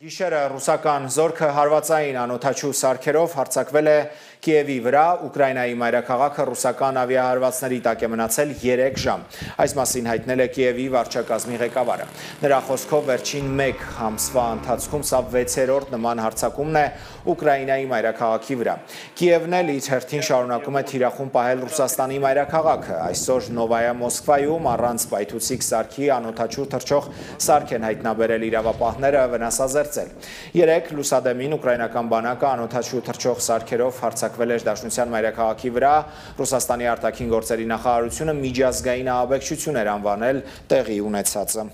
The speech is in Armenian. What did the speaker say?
Գիշերը ռուսական զորքը հարվածային անօդաչու սարքերով հարձակվել է Կիևի վրա, Ուկրաինայի մայրաքաղաքը ռուսական ավիահարվածների տակ է մնացել 3 ժամ։ Այս մասին հայտնել է Կիևի վարչակազմի ղեկավարը։ Նրա խոսքով վերջին 1 ամսվա ընթացքում սա 6-րդ նման հարձակումն է Ուկրաինայի մայրաքաղաքի վրա։ Կիևն էլ իր հերթին շարունակում է թիրախում պահել Ռուսաստանի մայրաքաղաքը։ Այսօր Նովայա Մոսկվայում առանց պայթուցիկ սարքի անօդաչու թռչող սարք են հայտնաբերել իրավապահները վնասազերծել։ Երեկ լուսադեմին ուկրաինական բանակը անօդաչու թռչող սարքերով հարձակվել էր Դաշնության մայրաքաղաքի վրա, Ռուսաստանի արտաքին գործերի նախարարությունը միջազգային ահաբեկչություն էր անվանել տեղի ունեցածը։